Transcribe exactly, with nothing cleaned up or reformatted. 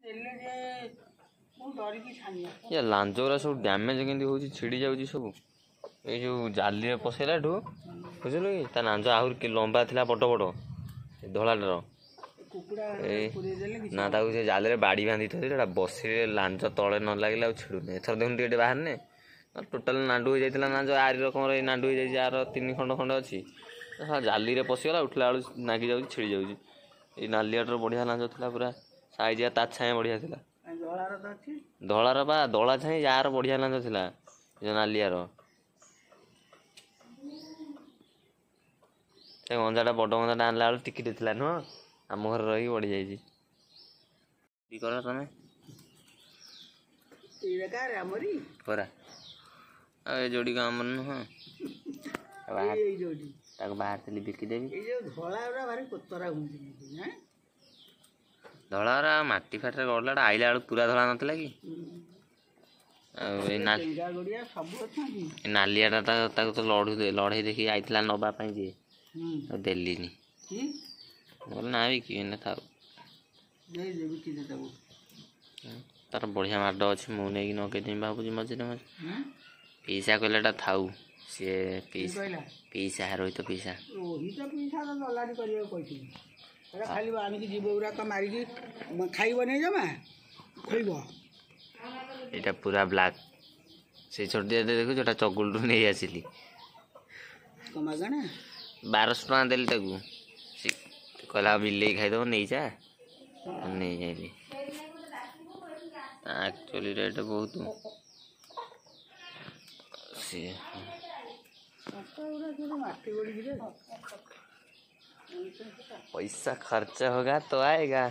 ଦେଲେ ଯେ ମୁଁ ଡରିକି ଛାନିଆ। ଇଏ ଲାଞ୍ଜ ଗୁରା ସବୁ ଡ୍ୟାମେଜ୍ କେମିତି ହେଉଛି, ଛିଡ଼ି ଯାଉଛି ସବୁ ଏଇ ଯେଉଁ ଜାଲିରେ ପଶେଇଲାଠୁ, ବୁଝିଲୁ କି? ତା ଲାଞ୍ଜ ଆହୁରି କି ଲମ୍ବା ଥିଲା, ବଡ଼ ବଡ଼ ଏ ଧଳାଟାର। କୁକୁଡ଼ା ଏଇ ପୁରେଇ ଦେଲେ କିଛି ନା, ତାକୁ ସେ ଜାଲିରେ ବାଡ଼ି ବାନ୍ଧି ଥୋଇଥିଲେ, ସେଟା ବସିଲେ ଲାଞ୍ଜ ତଳେ ନ ଲାଗିଲେ ଆଉ ଛିଡ଼ୁନି। ଏଥର ଦେଖୁନୁ ଟିକେ ଟିକେ ବାହାରିନେ। ଟୋଟାଲ ନାଣ୍ଡୁ ହେଇଯାଇଥିଲା ଲାଞ୍ଜ, ଆରି ରକମର ଏଇ ନାଣ୍ଡୁ ହେଇଯାଇଛି, ଆର ତିନି ଖଣ୍ଡ ଖଣ୍ଡ ଅଛି। ଶଳା ଜାଲିରେ ପଶିଗଲା, ଉଠିଲା ବେଳକୁ ନାଗି ଯାଉଛି, ଛିଡ଼ି ଯାଉଛି। ଏଇ ନାଲିଆଟାର ବଢ଼ିଆ ଲାଞ୍ଜ ଥିଲା, ପୁରା ସାଇଜିଆ, ତା ଛାଏଁ ବଢ଼ିଆ ଥିଲା। ଧଳାର ତ ଅଛି। ଧଳାର ବା ଧଳା ଛାଇଁ ୟାର ବଢ଼ିଆ ଲାଞ୍ଜ ଥିଲା, ଏ ଯୋଉ ନାଲିଆର। ସେ ଗଞ୍ଜାଟା, ବଡ଼ ଗଞ୍ଜାଟା ଆଣିଲା ବେଳକୁ ଟିକିଟେ ଥିଲା ନୁହଁ, ଆମ ଘରେ ରହିକି ବଢ଼ି ଯାଇଛି। କି କର ତମେ? ଏଇଟା କାହାର? ଆମରି ପରା। ଆଉ ଏ ଯୋଡ଼ିକ ଆମର ନୁହଁ? ଏଇ ଏଇ ଯୋଉଠି ତାକୁ ବାହାରିଥିଲି ବିକିଦେବି। ଏଇ ଯୋଉ ଧଳା ଗୁରା ଭାରି କୋତରା ହୁଅନ୍ତି ଆଁ। ଧଳାର ମାଟି ଫାଟିରେ ଗଡ଼ିଲାଟା, ଆଇଲା ବେଳକୁ ପୁରା ଧଳା ନଥିଲା କି? ଆଉ ଏଇ ନା ଟେଙ୍ଗା ଗୁଡ଼ିଆ ସବୁ ଅଛନ୍ତି। ଏ ନାଲିଆଟା ତାକୁ ତ ଲଢ଼ୁ ଲଢ଼େଇ ଦେଖି ଆଇଥିଲା ନବା ପାଇଁ ଯେ ହୁଁ ଆଉ ଦେଲିନି। କି? ମୁଁ କହିଲି ନା, ବିକିବିନି, ଥାଉ। ଦେଇଦେ, ବିକିଦେ ତାକୁ। ତାର ବଢ଼ିଆ ମାଡ଼ ଅଛି, ମୁଁ ନେଇକି ନଗେଇଦେମି ଭାବୁଛି ମଝିରେ ମଝିରେ। ହୁଁ ପିଇସା କହିଲେ ଏଟା ଥାଉ ସିଏ। କିଏ ପିଇସା କହିଲା? ପିଇସା, ରୋହିତ ପିଇସା। ରୋହିତ ପିଇସା ତ ଦଲାଲି କରିବାକୁ କହିଥିଲି। ଏଟା ଖାଲି ଆଣିକି ଜୀବ ଗୁଡ଼ାକ ମାରିକି ଖାଇବନି, ଜମା ଖୋଇବ। ଏଇଟା ପୁରା ବ୍ଲାକ୍, ସେଇ ଛୋଟିଆ ଦେଖୁଛୁ, ଏଟା ଚଗୁଲଠୁ ନେଇ ଆସିଲି। କଣ ମାଗଣା? ବାରଶହ ଟଙ୍କା ଦେଲି ତାକୁ। ସେ କହିଲା ବିଲେଇ ଖାଇଦବ, ନେଇଯା, ନେଇଯାଇଲି। ଆକ୍ଚୁଆଲି ରେଟ୍ ବହୁତ ସିଏ। ଗୁଡ଼ା ସବୁ ମାଟି ଗୋଡ଼ିକି ରେ। पैसा खर्च होगा तो आएगा।